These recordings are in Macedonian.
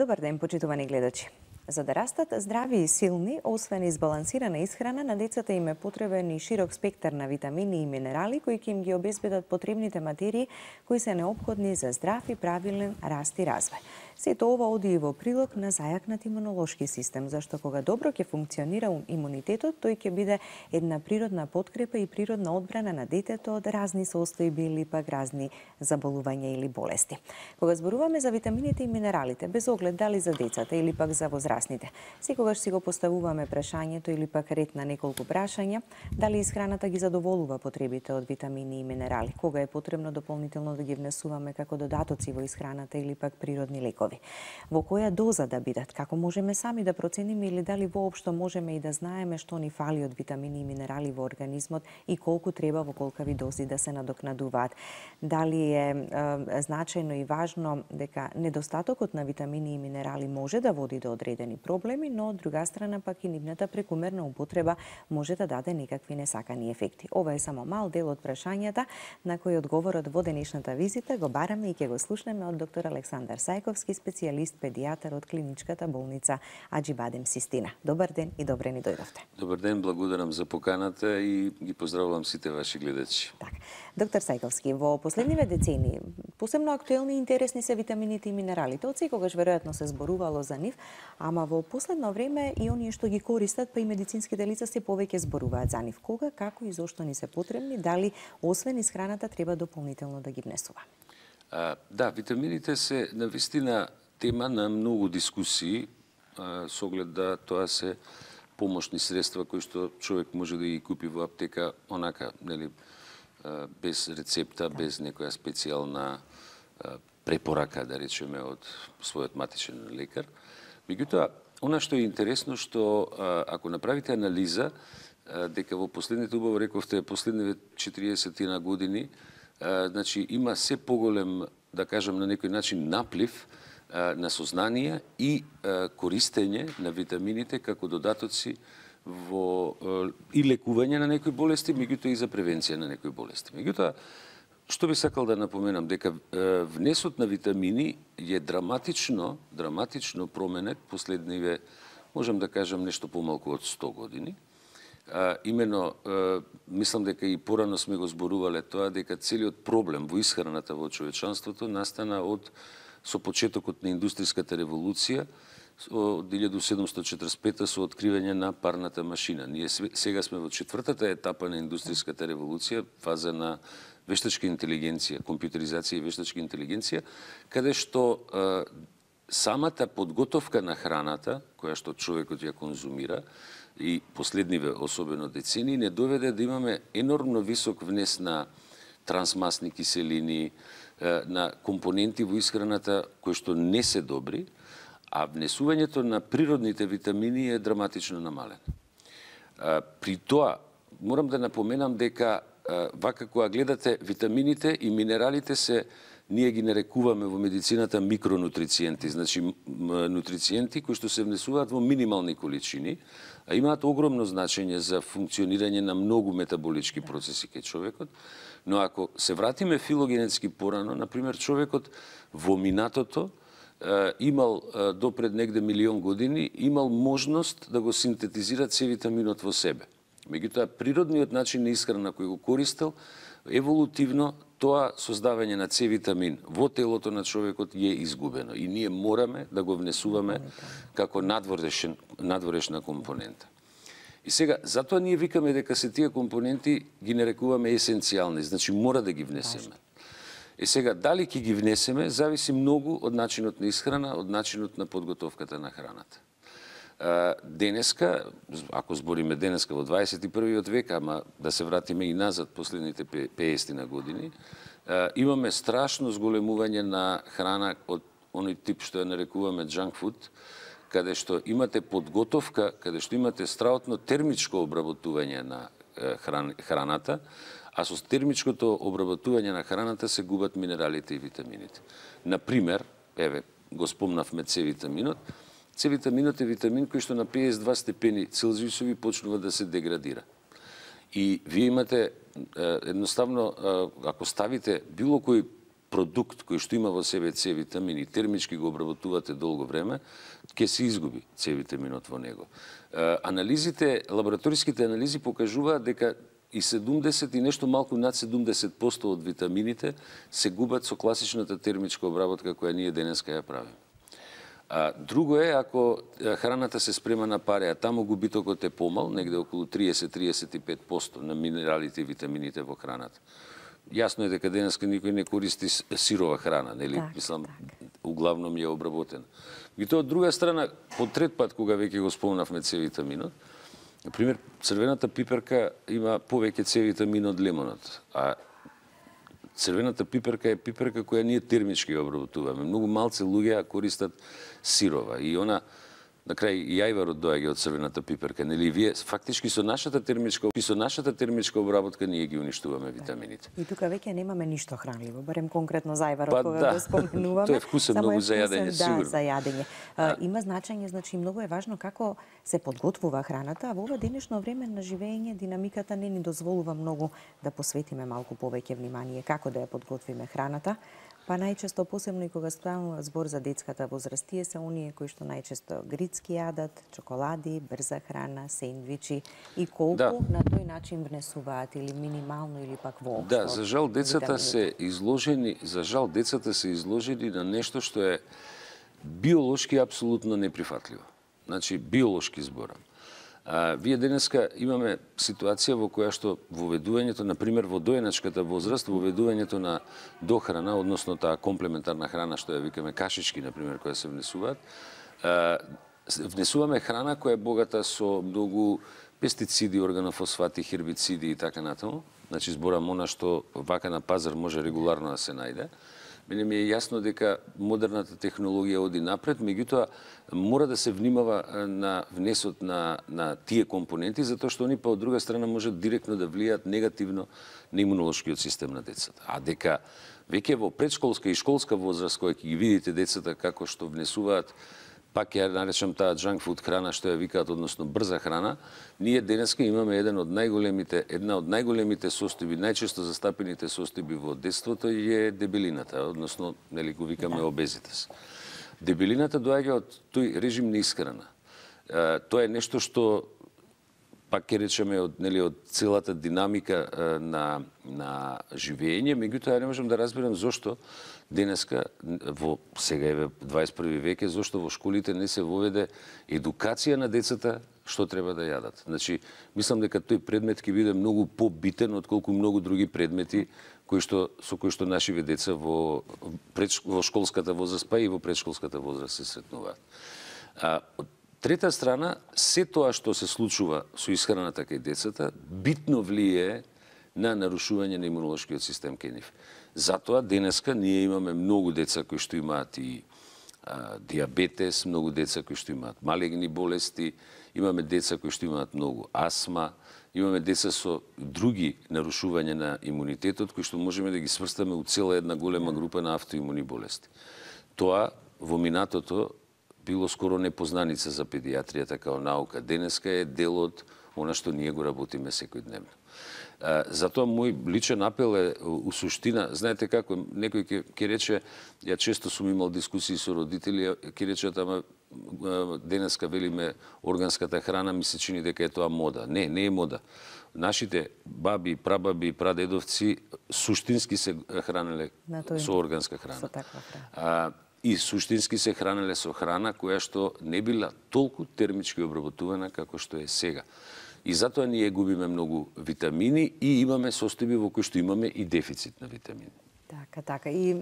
Добар ден, почитувани гледачи. За да растат здрави и силни, освен избалансирана исхрана, на децата им е потребен и широк спектар на витамини и минерали кои ќе им ги обезбедат потребните материи кои се неопходни за здрав и правилен раст и развој. Сето ова оди и во прилог на зајакнат имунолошки систем, зашто кога добро ќе функционира имунитетот, тој ќе биде една природна подкрепа и природна одбрана на детето од разни состојби или пак разни заболувања или болести. Кога зборуваме за витамините и минералите, без оглед дали за децата или пак за возрастните, секогаш си го поставуваме прашањето или пак ред на неколку прашања, дали исхраната ги задоволува потребите од витамини и минерали, кога е потребно дополнително да ги внесуваме како додатоци во исхраната или пак природни лекови. Во која доза да бидат, како можеме сами да процениме или дали воопшто можеме и да знаеме што ни фали од витамини и минерали во организмот и колку треба во колкави дози да се надокнадуваат. Дали е значајно и важно дека недостатокот на витамини и минерали може да води до одредени проблеми, но од друга страна пак и нивната прекумерна употреба може да даде некакви несакани ефекти. Ова е само мал дел од прашањата на кои одговорот во денешната визита го бараме и ќе го слушнеме од доктор Александар Сајковски, специјалист педијатар од клиничката болница Аџибадем Систина. Добар ден и добре ни дојдовте. Добар ден, благодарам за поканата и ги поздравувам сите ваши гледачи. Так. Доктор Сајковски, во последниве децении посебно актуелни и интересни се витамините и минералите. Од секогаш веројатно се зборувало за нив, ама во последно време и оние што ги користат, па и медицинските лица се повеќе зборуваат за нив. Кога, како и зошто ни се потребни, дали освен исхраната треба дополнително да ги внесува? Да, витамините се навистина тема на многу дискусии, со оглед да тоа се помошни средства кои што човек може да ги купи во аптека онака, нели, без рецепта, без некоја специјална препорака, да речеме, од својот матичен лекар. Меѓутоа, она што е интересно, што ако направите анализа, дека во последните, убаво рековте, последниве 40 години, значи има се поголем, да кажам на некој начин, наплив на сознание и користење на витамините како додатоци во и лекување на некои болести, меѓутоа и за превенција на некои болести. Меѓутоа, што би сакал да напоменам, дека внесот на витамини е драматично променет последниве, можам да кажам, нешто помалку од 100 години. Имено, мислам дека и порано сме го зборувале тоа, дека целиот проблем во исхраната во човечанството настана со почетокот на индустријската револуција од 1745 со откривање на парната машина. Ние сега сме во четвртата етапа на индустријската револуција, фаза на вештачка интелигенција, компјутеризација и вештачка интелигенција, каде што самата подготовка на храната, која што човекот ја конзумира, и последниве, особено децении, не доведе да имаме енормно висок внес на трансмасни киселини, на компоненти во исхраната кои што не се добри, а внесувањето на природните витамини е драматично намалено. При тоа, морам да напоменам дека вака кога гледате витамините и минералите ние ги нарекуваме во медицината микронутрициенти, значи нутрициенти кои што се внесуваат во минимални количини, а имаат огромно значење за функционирање на многу метаболички процеси кај човекот. Но ако се вратиме филогенетски порано, например, човекот во минатото имал допред негде 1.000.000 години, имал можност да го синтетизира С витаминот во себе. Меѓутоа, природниот начин на исхрана кој го користел, еволутивно тоа создавање на С витамин во телото на човекот е изгубено и ние мораме да го внесуваме како надворешна компонента. И сега, затоа ние викаме дека се тие компоненти ги нарекуваме есенцијални, значи мора да ги внесеме. И сега, дали ќе ги внесеме, зависи многу од начинот на исхрана, од начинот на подготовката на храната. Денеска, ако збориме денеска во 21. век, ама да се вратиме и назад последните 50 на години, имаме страшно зголемување на храна од оној тип што ја нарекуваме junk food, каде што имате подготовка, каде што имате страотно термичко обработување на храната, а со термичкото обработување на храната се губат минералите и витамините. Например, еве, го спомнавме С витаминот. С витаминот е витамин кој што на 52 степени Целзиусови почнува да се деградира. И вие имате, едноставно, ако ставите било кој продукт кој што има во себе С витамин и термички го обработувате долго време, ќе се изгуби С витаминот во него. Лабораториските анализи покажуваат дека и 70 и нешто малку над 70% од витамините се губат со класичната термичка обработка која ние денеска ја правиме. Друго е, ако храната се спрема на паре, а таму губитокот е помал, негде околу 30-35% на минералите и витамините во храната. Јасно е дека денеска никој не користи сирова храна, нели? Мислам, углавном е обработена. И тоа од друга страна, по трет пат, кога веќе го спомнавме С витаминот, например, црвената пиперка има повеќе С витамин од лимонот, а црвената пиперка е пиперка која ние термички ја обработуваме. Многу малце луѓе користат сирова и она на крај јајварот доаѓа од црвената пиперка, нели вие фактички со нашата термичка обработка ние ги уништуваме витамините. И тука веќе немаме ништо хранливо, барем конкретно зајварот кога го споменуваме. Тој е вкусен многу за јадење, сигурно. Да, за јадење. Има значење, значи многу е важно како се подготвува храната, а во ова денешно време на живење динамиката не ни дозволува многу да посветиме малку повеќе внимание како да ја подготвиме храната. Па најчесто, посебно и кога ставува збор за детската возраст, тие се оние кои што најчесто грицки јадат, чоколади, брза храна, сендвичи и колку на тој начин внесуваат или минимално или пак воопшто. Да, за жал децата се изложени на нешто што е биолошки апсолутно неприфатливо. Значи биолошки зборам. Вие денеска имаме ситуација во која што воведувањето, например, во доеначката возраст, воведувањето на дохрана, односно таа комплементарна храна, што ја викаме кашички, например, која се внесуваат, внесуваме храна која е богата со многу пестициди, органофосфати, хербициди и така натаму. Значи, зборам она што вака на пазар може регуларно да се најде. Мене ми е јасно дека модерната технологија оди напред, меѓутоа мора да се внимава на внесот на тие компоненти, затоа што они па од друга страна можат директно да влијаат негативно на имунолошкиот систем на децата. А дека веќе во предшколска и школска возраст, која ќе ги видите децата како што внесуваат, пак ја наречам таа junk food храна што ја викаат, односно брза храна, ние денеска имаме една од најголемите состојби, најчесто застапените состојби во детството е дебелината, односно нели го викаме обезитас. Дебелината доаѓа од тој режим на исхрана. Тоа е нешто што пак ќе речеме од целата динамика на живење, меѓутоа не можам да разберам зошто денеска, сега е 21 век, зошто во школите не се воведе едукација на децата што треба да јадат. Значи, мислам дека тој предмет ќе биде многу побитен отколку многу други предмети со кои што нашиве деца во школската возраст, па и во предшколската возраст се сретнуваат. Од трета страна, се тоа што се случува со исхраната кај децата, битно влијае на нарушување на имунолошкиот систем кај нив. Затоа денеска ние имаме многу деца кои што имаат и диабетес, многу деца кои што имаат малегни болести, имаме деца кои што имаат многу астма, имаме деца со други нарушувања на имунитетот кои што можеме да ги сврстаме у цела една голема група на автоимуни болести. Тоа во минатото било скоро непознаница за педијатријата као наука. Денеска е дел од она што ние го работиме секојдневно. Затоа мој личен апел е у суштина, знаете како, некој ќе рече, ја често сум имал дискусии со родители, ќе речат, ама денеска велиме органската храна, ми се чини дека е тоа мода. Не, не е мода. Нашите баби, прабаби, прадедовци суштински се хранеле со органска храна. И суштински се хранеле со храна која што не била толку термички обработувана како што е сега. И затоа ние губиме многу витамини и имаме состојби во кои што имаме и дефицит на витамини. Така. И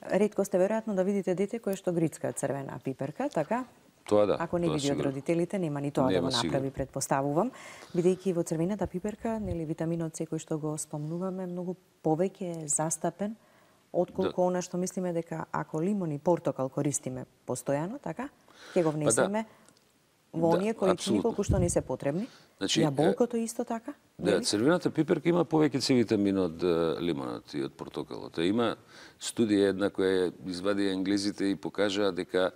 ретко сте веројатно да видите дете кое што грицка црвена пиперка, така? Тоа да. Ако не види од родителите, нема ни тоа да го направи, предпоставувам. Бидејќи во црвената пиперка, нели витаминот С кој што го спомнуваме, многу повеќе е застапен отколку она што мислиме дека ако лимон и портокал користиме постојано, така, ќе го внесеме во оние количини колку што ни се потребни. Значи, јаболкото исто така? Да, црвената пиперка има повеќе С витамин од лимонот и од портокалот. Има студија една која извади англезите и покажаа дека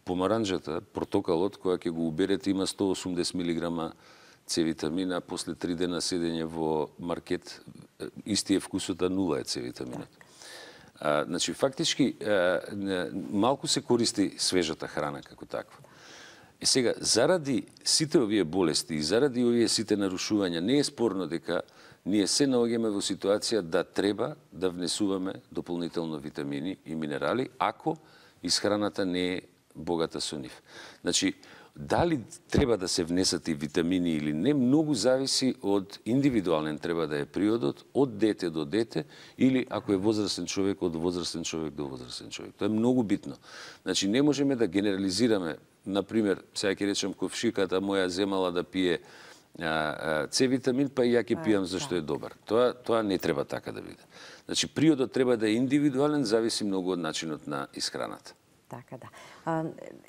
помаранџата, портокалот, која ќе го уберете, има 180 мг С витамина, после 3 дена седење во маркет, исти е вкусот, а нула е С витаминот. Значи, фактички, малку се користи свежата храна како таква. И сега, заради сите овие болести и заради овие сите нарушувања, не е спорно дека ние се наоѓаме во ситуација да треба да внесуваме дополнително витамини и минерали, ако исхраната не е богата со нив. Значи, дали треба да се внесат и витамини или не, многу зависи од индивидуален треба да е приодот, од дете до дете, или ако е возрастен човек, од возрастен човек до возрастен човек. Тоа е многу битно. Значи, не можеме да генерализираме, например, сега ќе речем, ковшиката моја земала да пие С витамин, па и ја ќе пијам зашто е добар. Тоа не треба така да биде. Значи, приодот треба да е индивидуален, зависи многу од начинот на исхраната. Така да.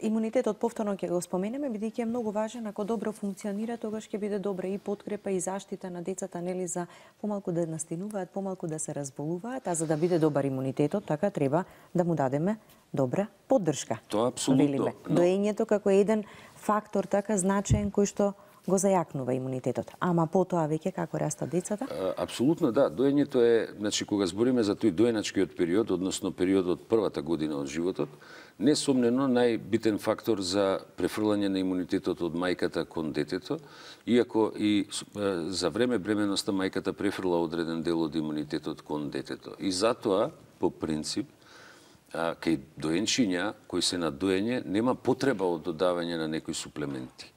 Имунитетот повторно ќе го споменеме, бидејќи е многу важен. Ако добро функционира, тогаш ќе биде добра и подкрепа и заштита на децата, нели, за помалку да настинуваат, помалку да се разболуваат, а за да биде добар имунитетот, така треба да му дадеме добра поддршка. Тоа апсолутно. Доењето како еден фактор така значаен кој што го зајакнува имунитетот. Ама потоа веќе како растат децата? Апсолутно да. Доењето е, значи, кога збориме за тој доеначкиот период, односно периодот првата година од животот, несомнено најбитен фактор за префрлање на имунитетот од мајката кон детето, иако и за време бременоста мајката префрла одреден дел од имунитетот кон детето. И затоа, по принцип, кај доенчиња кои се на доење, нема потреба од додавање на некои суплементи.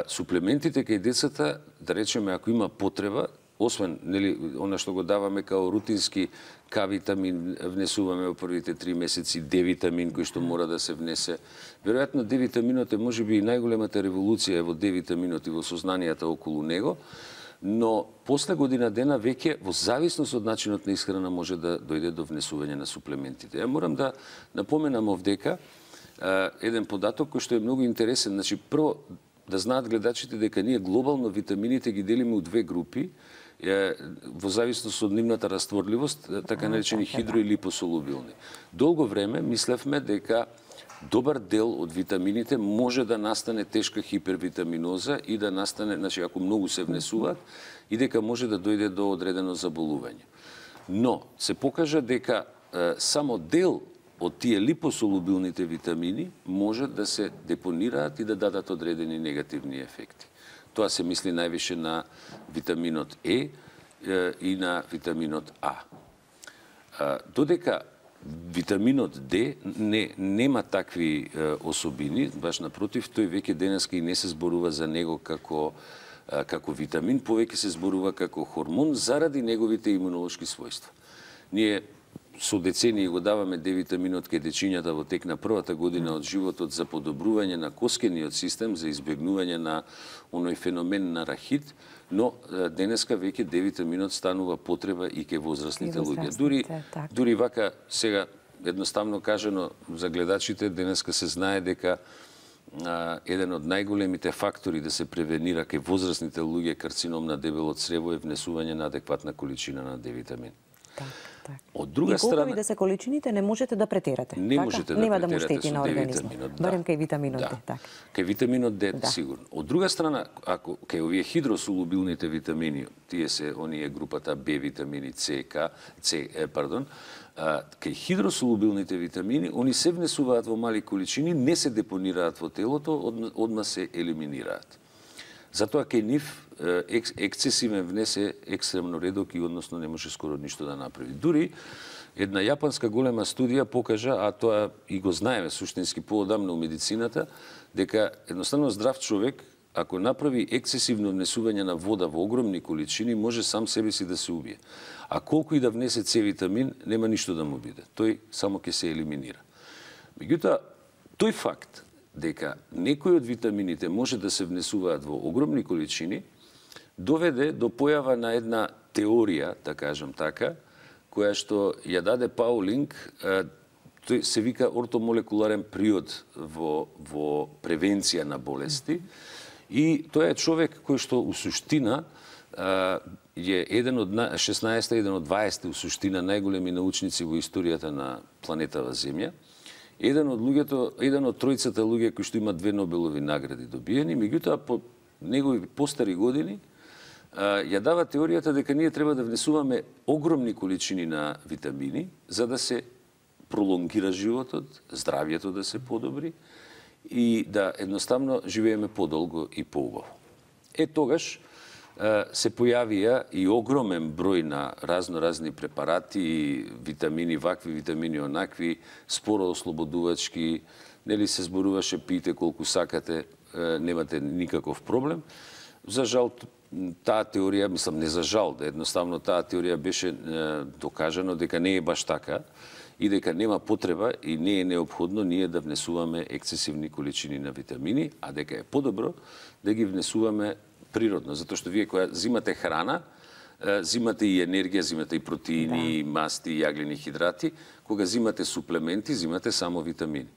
Суплементите кај децата, да речеме, ако има потреба, освен, нели, она што го даваме као рутински К-витамин, внесуваме во првите 3 месеци, Д-витамин кој што мора да се внесе. Веројатно Д-витаминот е можеби и најголемата револуција во Д-витаминот и во сознанијата околу него, но после година дена веќе во зависност од начинот на исхрана може да дојде до внесување на суплементите. Ја морам да напоменам овдека еден податок кој што е многу интересен. Значи, прво, да знаат гледачите дека ние глобално витамините ги делиме у две групи, во зависност од нивната растворливост, така наречени хидро и липосолубилни. Долго време мислевме дека добар дел од витамините може да настане тешка хипервитаминоза и да настане, значи ако многу се внесуваат, и дека може да дојде до одредено заболување. Но се покажа дека само дел од тие липосолубилните витамини може да се депонираат и да дадат одредени негативни ефекти. Тоа се мисли највише на витаминот Е и на витаминот А. Додека витаминот Д нема такви особини, баш напротив, тој веќе денеска и не се зборува за него како витамин, повеќе се зборува како хормон заради неговите имунолошки својства. Ние со децении го даваме Д-витаминот кај дечињата во тек на првата година од животот за подобрување на коскениот систем, за избегнување на оној феномен на рахит, но денеска веќе Д-витаминот станува потреба и кај возрастните луѓе. Дури вака, сега едноставно кажано за гледачите, денеска се знае дека еден од најголемите фактори да се превенира кај возрастните луѓе карцином на дебелото црево е внесување на адекватна количина на Д-витамин. Од друга страна, колку и да се количините, не можете да претерате. Не можете да претерате му штети на организмот. Барем кај витаминот Д, така. Кај витаминот Д сигурно. Од друга страна, ако кај овие хидросолубилните витамини, тие се оние групата Б витамини, кај хидросолубилните витамини, они се внесуваат во мали количини, не се депонираат во телото, одма се елиминираат. Затоа кај нив ексцесивен внес е екстремно редок и односно не може скоро ништо да направи. Дури една јапанска голема студија покажа, а тоа и го знаеме суштински поодамно у медицината, дека едноставно здрав човек, ако направи ексцесивно внесување на вода во огромни количини, може сам себе си да се убие. А колку и да внесе С-витамин, нема ништо да му биде. Тој само ќе се елиминира. Меѓутоа, тој факт дека некои од витамините може да се внесуваат во огромни количини, доведе до појава на една теорија, да кажам така, која што ја даде Паулинг, тој се вика ортомолекуларен приод во превенција на болести, и тој е човек кој што у суштина е еден од 16, еден од 20 у суштина најголеми научници во историјата на планетава Земја. Еден од тројцата луѓе кои што имаат 2 Нобелови награди добиени, меѓутоа по негови постари години ја дава теоријата дека ние треба да внесуваме огромни количини на витамини за да се пролонгира животот, здравјето да се подобри и да едноставно живееме подолго и поубаво. Тогаш се појавија и огромен број на разни препарати, витамини вакви, витамини онакви, споро ослободувачки, нели се зборуваше пиете колку сакате, немате никаков проблем. За жал таа теорија, мислам не за жал, да едноставно таа теорија беше докажано дека не е баш така и дека нема потреба и не е неопходно ние да внесуваме ексцесивни количини на витамини, а дека е подобро да ги внесуваме природно, затоа што вие кога зимате храна, зимате и енергија, зимате и протеини, и масти, и јаглени хидрати, кога зимате суплементи, зимате само витамини.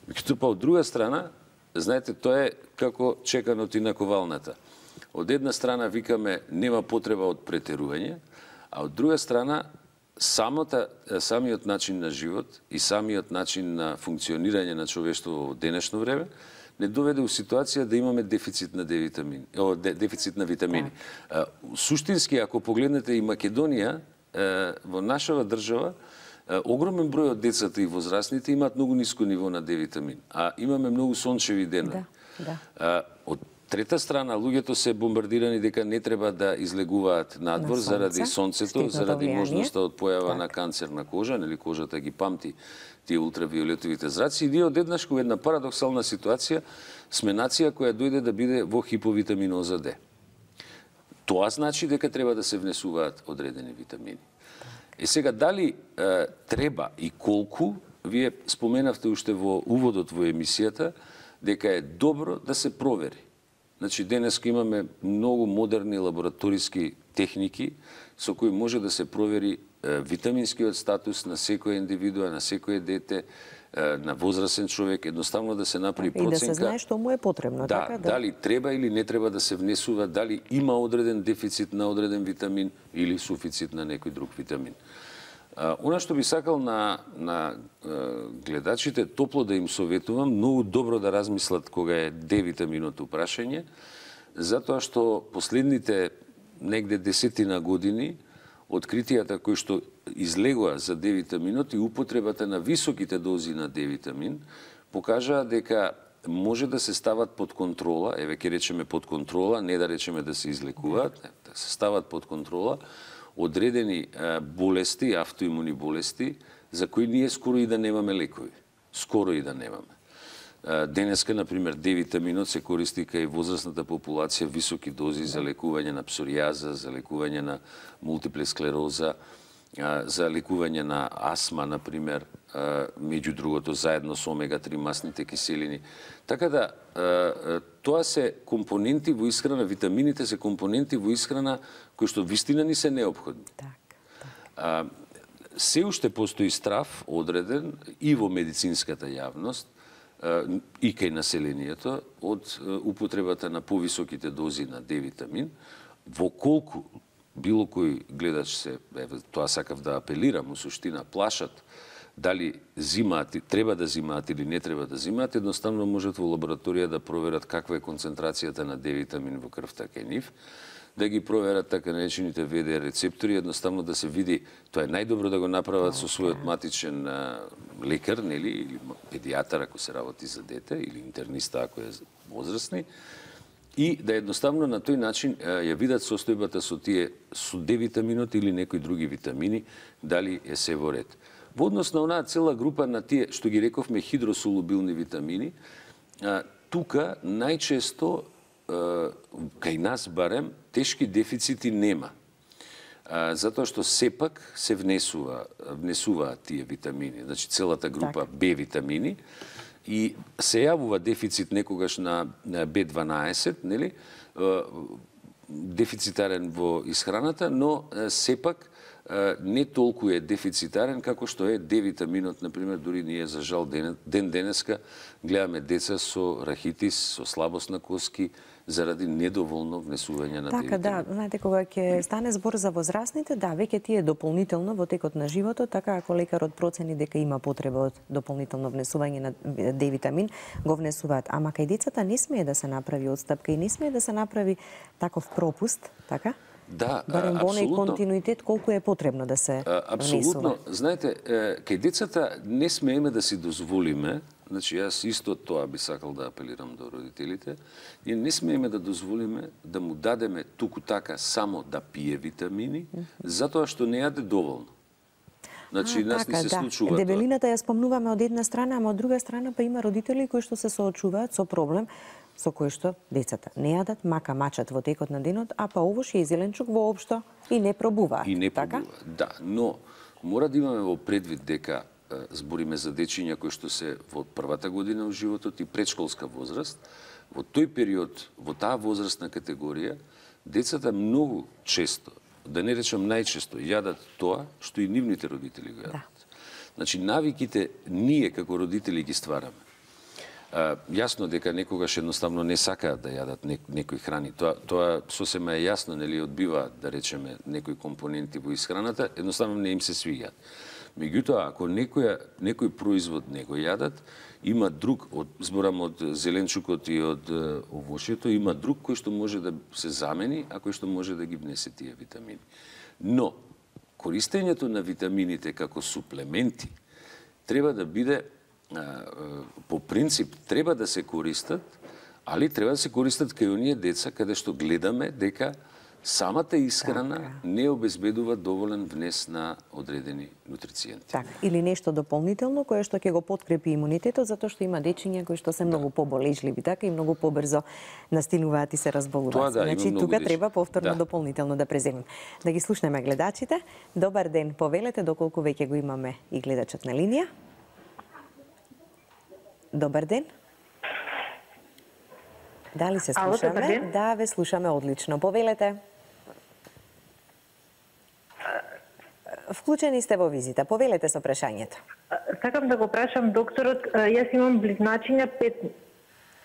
Меѓутоа па од друга страна, знаете, тоа е како чеканот и наковалната. Од една страна викаме нема потреба од претерување, а од друга страна самиот начин на живот и самиот начин на функционирање на човештво во денешно време не доведе у ситуација да имаме дефицит на витамини. Суштински, ако погледнете и Македонија, во нашава држава, огромен број од децата и возрастните имаат многу ниско ниво на D-витамин, а имаме многу сончеви денови. Од трета страна, луѓето се бомбардирани дека не треба да излегуваат надвор заради сонцето, заради можноста од појава на канцер на кожа, нели кожата ги памти тие ултравиолетовите зраци, и ние одеднаш во една парадоксална ситуација сме нација која дојде да биде во хиповитаминоза Д. Тоа значи дека треба да се внесуваат одредени витамини. Сега, дали треба и колку, вие споменавте уште во уводот во емисијата, дека е добро да се провери. Значи, денеска имаме многу модерни лабораториски техники со кои може да се провери витаминскиот статус на секоја индивидуа, на секое дете, на возрастен човек, едноставно да се направи проценка. И да се знае што му е потребно. Дали треба или не треба да се внесува, дали има одреден дефицит на одреден витамин или суфицит на некој друг витамин. Она што би сакал на гледачите топло да им советувам, многу добро да размислат кога е D-витаминото прашање, затоа што последните негде 10 години откритијата кои што излегоа за D-витаминот и употребата на високите дози на D-витамин покажаа дека може да се стават под контрола, еве ќе речеме под контрола, не да речеме да се излекуваат, да се стават под контрола одредени болести, автоимуни болести, за кои ние скоро и да немаме лекови. Скоро и да немаме. Денеска, например, D-витаминот се користи кај возрастната популација високи дози за лекување на псоријаза, за лекување на мултипла склероза, за лекување на астма, например, меѓу другото, заедно со омега-3 масните киселини. Така да, тоа се компоненти во исхрана, витамините се компоненти во исхрана кои што вистина ни се неопходни. Се уште постои страв одреден и во медицинската јавност, и кај населението од употребата на повисоките дози на D-витамин, во колку било кој гледач се, тоа сакав да апелирам, у суштина плашат дали зимаат, треба да зимаат или не треба да зимаат, едноставно можат во лабораторија да проверат каква е концентрацијата на D-витамин во крвта кај нив, да ги проверат така наречените ВД рецептори, едноставно да се види, тоа е најдобро да го направат со својот матичен лекар, нели, или педијатар ако се работи за дете, или интерниста ако е возрастни, и да едноставно на тој начин ја видат состојбата со D-витаминот или некои други витамини, дали е се во ред. Во однос на онаа цела група на тие, што ги рековме, хидросолубилни витамини, тука најчесто, кај нас барем, тешки дефицити нема. Затоа што сепак се внесуваат тие витамини, значи целата група Б-витамини, и се јавува дефицит некогаш на B12, нели? Дефицитарен во исхраната, но сепак не толку е дефицитарен како што е D-витаминот, например, дури ние за жал ден денеска гледаме деца со рахитис, со слабост на коски, заради недоволно внесување на Така, да, знаете, кога ќе стане збор за возрастните, да, веќе тие дополнително во текот на животот, така ако лекарот процени дека има потреба од дополнително внесување на D-витамин, го внесуваат. Ама кај децата не смее да се направи одстапка и не смее да се направи таков пропуст, така? Да, барем во оној континуитет колку е потребно да се апсолутно. внесува. Знаете, кај децата не смееме да си дозволиме, значи јас исто тоа би сакал да апелирам до родителите, ние не смееме да дозволиме да му дадеме туку така само да пие витамини, затоа што не јаде доволно. Значи, нас ни се случува дебелината ја спомнуваме од една страна, ама од друга страна па има родители кои што се соочуваат со проблем со кој што децата не јадат, мака мачат во текот на денот, а па овош и зеленчук воопшто и не пробуваат. И не така? пробуваат, да. Но мора да имаме во предвид дека збориме за дечиња кои што се во првата година од животот и предшколска возраст. Во тој период, во таа возрастна категорија, децата многу често, да не речам најчесто, јадат тоа што и нивните родители го јадат. Да. Значи, навиките ние како родители ги ствараме. Јасно дека некогаш едноставно не сакаат да јадат некои храни. Тоа сосема е јасно, нели, одбиваат, да речеме, некои компоненти во исхраната, едноставно не им се свиѓаат. Меѓутоа, ако некој производ не го јадат, има друг, зборам од зеленчукот и од овошјето, има друг кој што може да се замени, а кој што може да ги внесе тие витамини. Но, користењето на витамините како суплементи треба да биде по принцип треба да се користат, али треба да се користат кај оние деца каде што гледаме дека самата исхрана не обезбедува доволен внес на одредени нутрициенти. Така, или нешто дополнително кое што ќе го подкрепи имунитетот, затоа што има дечиња кои што се многу поболежливи, така, и многу побрзо настинуваат и се разболуваат. Значи, тука треба повторно дополнително да преземем. Да ги слушнеме гледачите. Добар ден, повелете доколку веќе го имаме и гледачот на линија. Добар ден. Дали се слушаме? Да, ве слушаме одлично. Повелете. Вклучени сте во визита. Повелете со прашањето. Сакам да го прашам докторот. Јас имам близначиња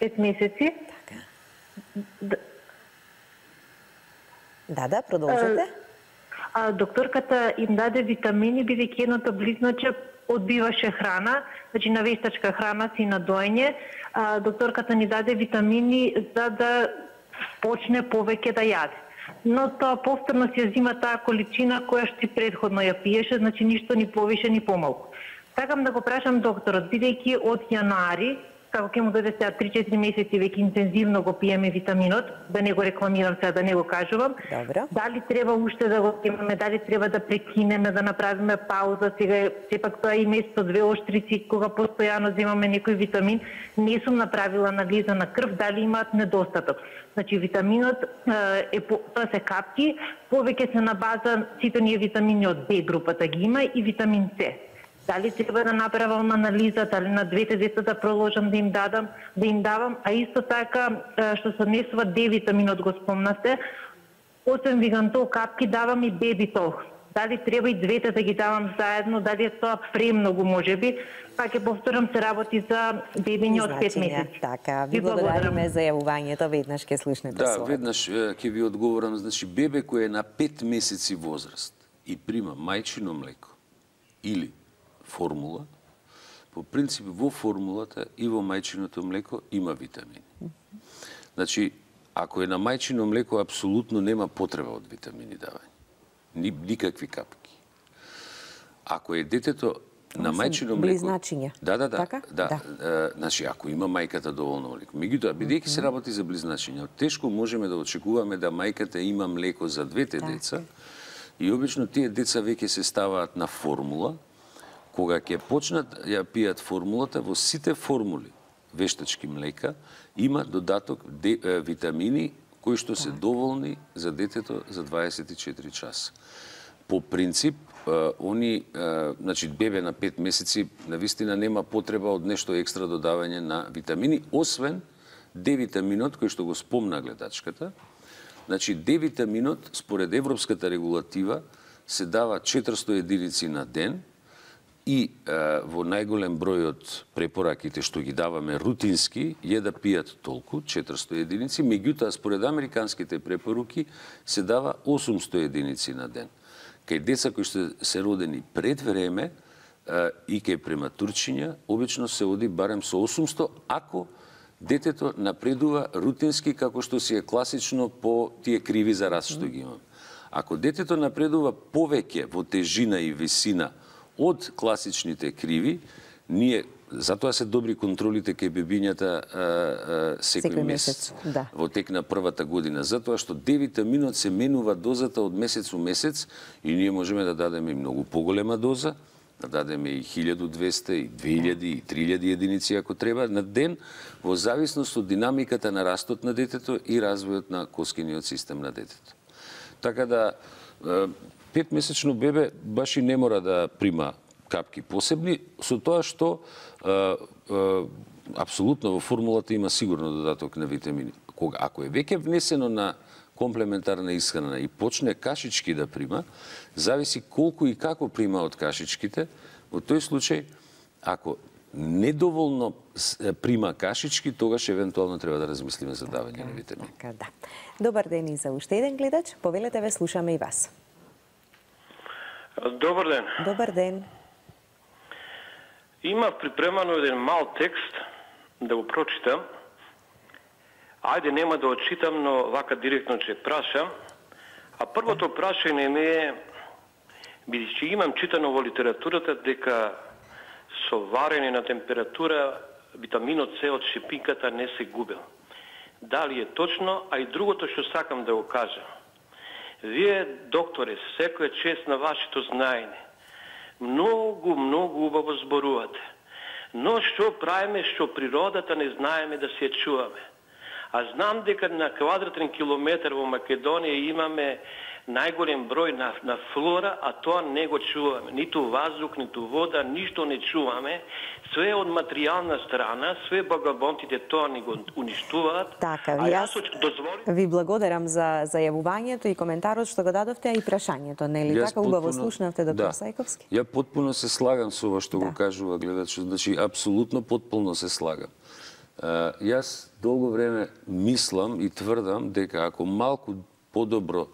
5 месеци. Така. Да, продолжете. Докторката им даде витамини, бидејќи едното близначе одбиваше храна, значи на вештачка храна си на доење. Докторката ни даде витамини за да почне повеќе да јаде. Но тоа повторно си ја зима таа количина која што и предходно ја пиеше, значи ништо ни повише ни помалку. Сакам да го прашам докторот, бидејќи од јануари, како ќе му дојде сега 3-4 месеци веќе интензивно го пиеме витаминот, да не го рекламирам сега, да не го кажувам. Добро. Дали треба уште да го имаме, дали треба да прекинеме, да направиме пауза, сега сепак тоа и место 2 оштрици, кога постојано земаме некој витамин, не сум направила анализа на крв, дали имаат недостаток. Значи витаминот тоа се капки, повеќе се на база сите ние витамини од Б групата ги има и витамин С. Дали треба да направам анализа, дали на двете деца да продолжам да им давам, а исто така што се однесува Д витаминот го спомнате, освен вигантол капки давам и бебитол. Дали треба и двете да ги давам заедно, дали е тоа премногу можеби, па ќе повторам, се работи за бебиња од 5 месеци. Така, ви благодариме за јавувањето, веднаш ќе слушнете својот. Да, веднаш ќе ви одговорам, значи бебе кој е на 5 месеци возраст и прима мајчино млеко или формула, по принцип во формулата и во мајчиното млеко има витамини. Значи, ако е на мајчино млеко, апсолутно нема потреба од витамини давање. Никакви капки. Ако е детето на мајчино млеко... Близначиња. Да. Значи, ако има мајката доволно млеко. Меѓутоа, бидејќи се работи за близначиња, тешко можеме да очекуваме да мајката има млеко за двете деца и обично тие деца веќе се ставаат на формула. Кога ќе почнат ја пијат формулата, во сите формули вештачки млека има додаток витамини кои што се доволни за детето за 24 часа. По принцип, значи бебе на 5 месеци навистина нема потреба од нешто екстра додавање на витамини, освен Д-витаминот кој што го спомна гледачката. Значи Д-витаминот според европската регулатива се дава 400 единици на ден и во најголем број од препораките што ги даваме рутински е да пијат толку, 400 единици, меѓутоа според американските препоруки се дава 800 единици на ден. Кај деца кои што се родени пред време и кај прематурчиња, обично се оди барем со 800, ако детето напредува рутински како што си е класично по тие криви за раст што ги имаме. Ако детето напредува повеќе во тежина и висина од класичните криви, ние затоа се добри контролите кај бебињата секој месец во тек на првата година, затоа што D-витаминот се менува дозата од месец у месец и ние можеме да дадеме и многу поголема доза, да дадеме и 1200, и 2000, и 3000 единици ако треба на ден, во зависност од динамиката на растот на детето и развојот на коскиниот систем на детето. Така да 5-месечно бебе баш и не мора да прима капки посебни, со тоа што апсолутно во формулата има сигурно додаток на витамини. Ако е веќе внесено на комплементарна исхрана и почне кашички да прима, зависи колку и како прима од кашичките. Во тој случај, ако недоволно прима кашички, тогаш евентуално треба да размислиме за давање на витамини. Така, да. Добар ден и за уште еден гледач. Повелете, ве слушаме и вас. Добар ден. Добар ден. Има припремано еден мал текст да го прочитам. Ајде, нема да очитам, но вака директно ќе прашам. А првото прашање ми е, бидејќи имам читано во литературата дека со варење на температура витаминот С од шипинката не се губел. Дали е точно, а и другото што сакам да го кажам. Вие, докторе, секоја чест на вашето знаење. Многу убаво зборувате. Но што правиме што природата не знаеме да се чуваме. А знам дека на квадратен километар во Македонија имаме најголем број на флора, а тоа не го чуваме. Ниту ваздух, ниту вода, ништо не чуваме. Све од материјална страна, све богабонтите тоа ни го уништуваат. Така, ви благодарам за зајавувањето и коментарот што го дадовте, а и прашањето, нели? Така убаво слушнавте, доктор Сајковски? Ја потпуно се слагам со ова што го кажува гледачот, значи апсолутно потполно се слагам. Јас долго време мислам и тврдам дека ако малку подобро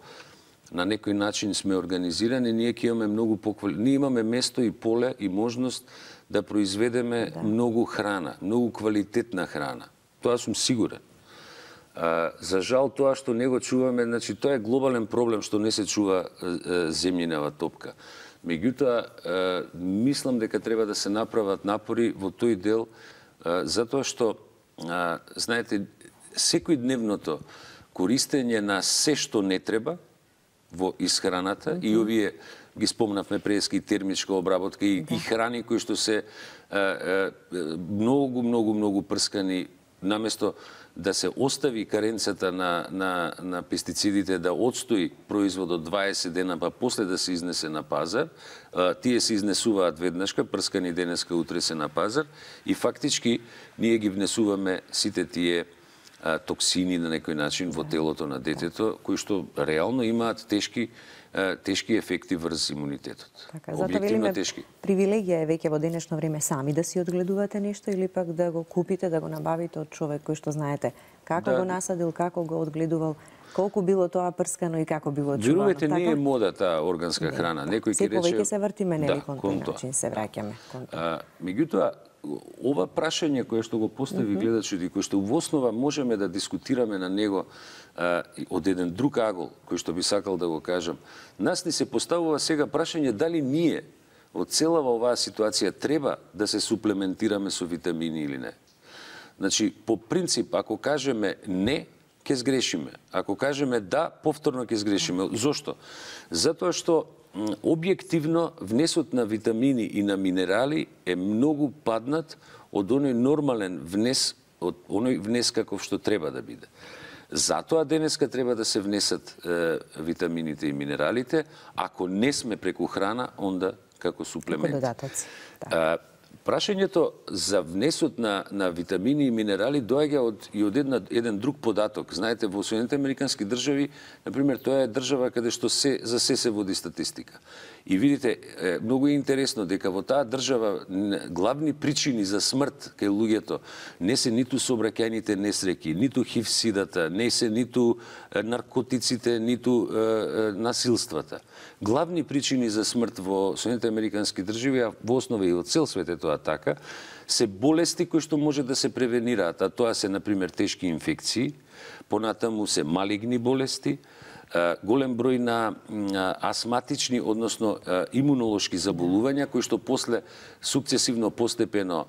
на некој начин сме организирани, ние ќе имаме многу ние имаме место и поле и можност да произведеме многу храна, многу квалитетна храна. Тоа сум сигурен. За жал тоа што не го чуваме, значи тоа е глобален проблем што не се чува земјинава топка. Меѓутоа, мислам дека треба да се направат напори во тој дел, затоа што знаете, секојдневното користење на се што не треба во исхраната и овие ги спомнавме прески термичка обработка и храни кои што се многу прскани, наместо да се остави каренцата на пестицидите да отстои производот 20 дена, па после да се изнесе на пазар, тие се изнесуваат веднашка, прскани денеска, утре се на пазар и фактички ние ги внесуваме сите тие токсини на некој начин во телото на детето, кои што реално имаат тешки ефекти врз имунитетот. Така, затоа велиме, привилегија е веќе во денешно време сами да си одгледувате нешто или пак да го купите, да го набавите од човек кој што знаете како го насадил, како го одгледувал, колку било тоа прскано и како било чувано. Верувате, не е мода таа органска храна. Некој ќе рече... Повеќе се вртиме, нели, кон тој начин се враќаме. Меѓутоа, ова прашање кое што го постави гледачот и кое што во основа можеме да дискутираме на него од еден друг агол, кој што би сакал да го кажам, нас ни се поставува сега прашање дали ние од целава оваа ситуација треба да се суплементираме со витамини или не. Значи, по принцип, ако кажеме не, ќе сгрешиме. Ако кажеме да, повторно ќе сгрешиме. Зошто? Затоа што објективно внесот на витамини и на минерали е многу паднат од оној нормален внес, од оној внес каков што треба да биде. Затоа денеска треба да се внесат витамините и минералите, ако не сме преку храна, онда како суплемент. Прашањето за внесот на витамини и минерали доаѓа од еден друг податок. Знаете, во Соединените Американски држави, например, тоа е држава каде што за се води статистика. И видите, многу е интересно дека во таа држава главни причини за смрт кај луѓето не се ниту сообраќајните несреќи, ниту хив-сидата, не се ниту наркотиците, ниту насилствата. Главни причини за смрт во Соединените Американски држави, а во основа и од цел свет е тоа така, се болести кои што може да се превенираат, а тоа се, например, тешки инфекции, понатаму се малигни болести, голем број на астматични, односно имунолошки заболувања, кои што после сукцесивно постепено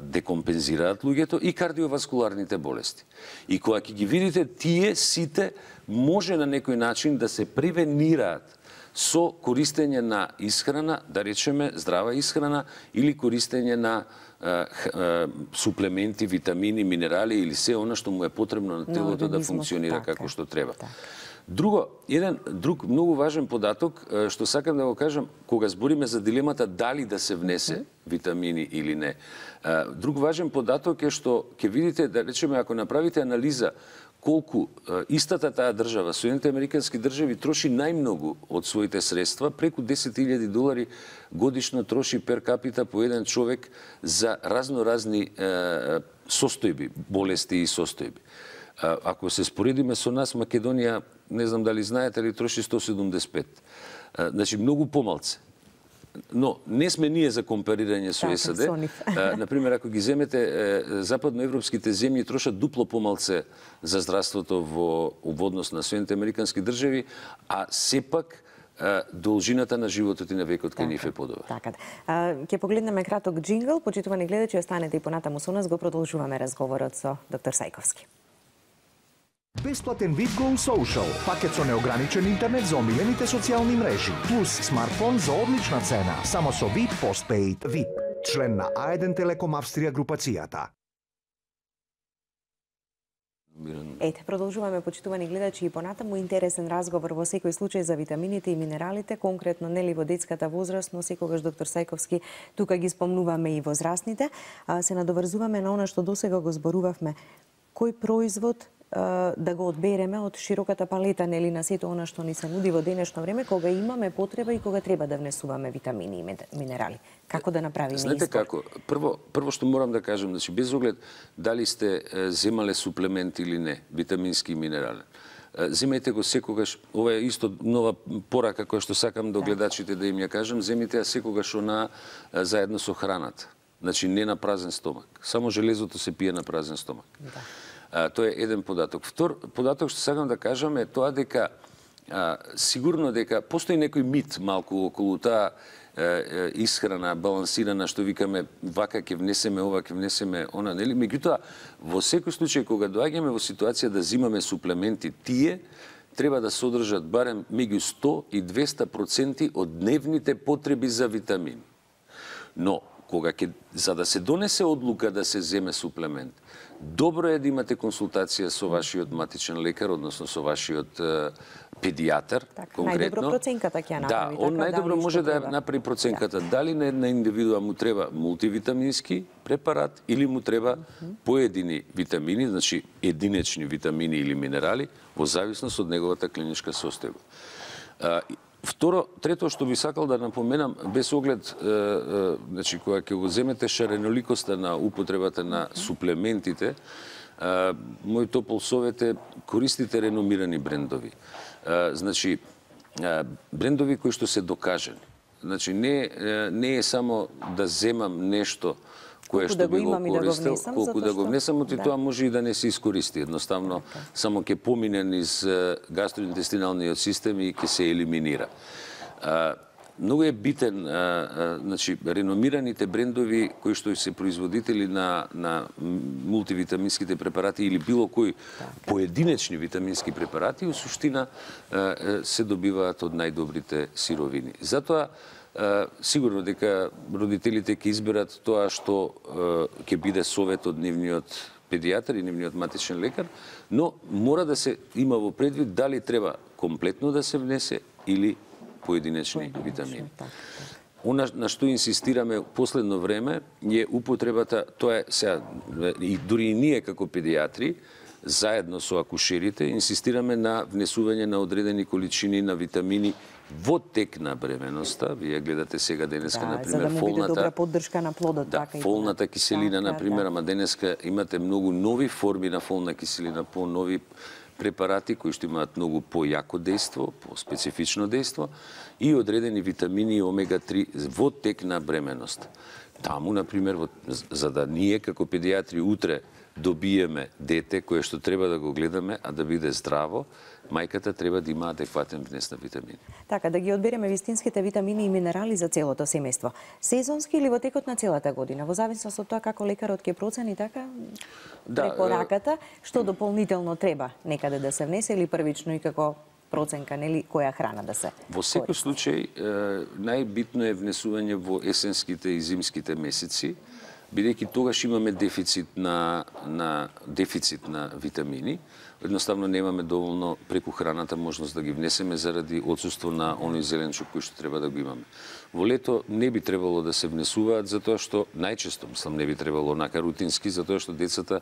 декомпензираат луѓето, и кардиоваскуларните болести. И кога ќе ги видите, тие сите може на некој начин да се превенираат со користење на исхрана, да речеме здрава исхрана, или користење на суплементи, витамини, минерали или се она што му е потребно на телото да функционира како што треба. Еден друг многу важен податок, што сакам да го кажам, кога збориме за дилемата дали да се внесе витамини или не. Друг важен податок е што ќе видите, да речеме, ако направите анализа колку истата таа држава, Соединените Американски држави, троши најмногу од своите средства, преку $10,000 годишно троши пер капита по еден човек за разноразни состојби, болести и состојби. Ако се споредиме со нас, Македонија, не знам дали знаете, ли троши 175. Значи, многу помалце. Но не сме ние за компарирање со САД. Например, ако ги земете, западноевропските земји трошат дупло помалце за здравството во однос на Соединените Американски држави, а сепак должината на животот и на векот кај нив е подобар. Така. Ќе погледнеме краток джингл, почитувани гледачи, останете и понатаму со нас, го продолжуваме разговорот со доктор Сајковски. Бесплатен VIP Go Social, пакет со неограничен интернет за омилените социјални мрежи, плюс смартфон за одлична цена, само со VIP Postpaid. VIP, член на A1 Телеком Австрија групацијата. Ете, продолжуваме, почитувани гледачи, и понатаму интересен разговор во секој случај за витамините и минералите, конкретно нели во детската возраст, но секогаш доктор Сајковски тука ги спомнуваме и возрастните. Се надоврзуваме на она што досега го зборувавме. Кој производ да го одбереме од широката палета, нели, на сето она што ни се нуди во денешно време, кога имаме потреба и кога треба да внесуваме витамини и минерали. Како да направиме избор? Знаете како? Прво што морам да кажам, значи без оглед дали сте земале суплемент или не, витамински и минерален. Земајте го секогаш, ова е исто нова порака која што сакам до гледачите да им ја кажам, земите ја секогаш она заедно со храната. Значи не на празен стомак. Само железото се пие на празен стомак. Тоа е еден податок. Втор податок што сакам да кажам е тоа дека сигурно дека постои некој мит малку околу таа исхрана балансирана, што викаме вака ќе внесеме ова, ќе внесеме она, нели? Меѓутоа, во секој случај кога доаѓаме во ситуација да зимаме суплементи, тие треба да содржат барем меѓу 100 и 200% од дневните потреби за витамини. Но за да се донесе одлука да се земе суплемент, добро е да имате консултација со вашиот матичен лекар, односно со вашиот педијатар, конкретно. Најдобро проценката ќе ја направи. Да, он најдобро може да направи проценката. Дали на една индивидуа му треба мултивитамински препарат или му треба поедини витамини, значи единечни витамини или минерали, во зависност од неговата клиничка состојба. Трето што би сакал да напоменам, без оглед, значи, кога ќе го земете шареноликоста на употребата на суплементите, мој топол совет е користите реномирани брендови. Значи, брендови кои што се докажани. Значи, не е само да земам нешто кое што би го користел, колку да го внесам, оти тоа може и да не се искористи. Едноставно, само ќе помине низ гастроинтестиналниот систем и ќе се елиминира. Многу е битен, значи, реномираните брендови кои што се производители на мултивитаминските препарати или било кои поединечни витамински препарати, у суштина се добиваат од најдобрите сировини. Затоа, сигурно дека родителите ќе изберат тоа што ќе биде совет од нивниот педијатар и нивниот матичен лекар, но мора да се има во предвид дали треба комплетно да се внесе или поединечни витамини. Она на што инсистираме последно време е употребата, тоа е сега, и дури и ние како педиатри, заедно со акушерите, инсистираме на внесување на одредени количини на витамини во тек на бременоста. Вие гледате сега денеска, например, за да му биде добра поддршка на плодот. Да, така фолната киселина, например, ама денеска имате многу нови форми на фолна киселина, по-нови препарати кои што имаат многу појако дејство, по-специфично дејство и одредени витамини омега-3 во тек на бременост. Таму, например, за да ние како педиатри утре добиеме дете кое што треба да го гледаме, а да биде здраво, мајката треба да има адекватен внес на витамини. Така, да ги одбереме вистинските витамини и минерали за целото семејство. Сезонски или во текот на целата година, во зависност од тоа како лекарот ќе процени, така, препораката, што дополнително треба некаде да се внесе или првично и како проценка, нели, која храна да се Во секој случај, најбитно е внесување во есенските и зимските месеци, бидејќи тогаш имаме дефицит на витамини, едноставно немаме доволно преку храната можност да ги внесеме заради отсуство на оној зеленчук кој што треба да го имаме. Во лето не би требало да се внесуваат затоа што најчесто, мислам, не би требало онака рутински, затоа што децата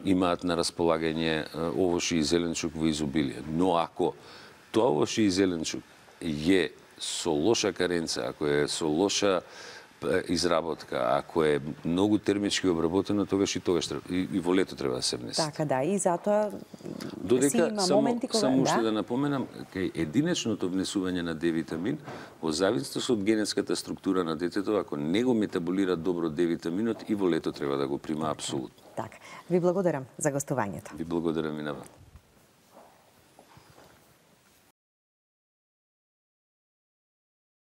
имаат на располагање овоши и зеленчук во изобилие. Но ако тоа овоши и зеленчук е со лоша каренца, ако е со лоша изработка, ако е многу термички обработено, тогаш и во лето треба да се внесе. Така, да, и затоа Додека, има моменти кога само уште да напоменам, кај единечното внесување на D-витамин, во зависност од генетската структура на детето, ако не го метаболира добро D-витаминот, и во лето треба да го прима апсолутно. Така. Ви благодарам за гостувањето. Ви благодарам и на вас.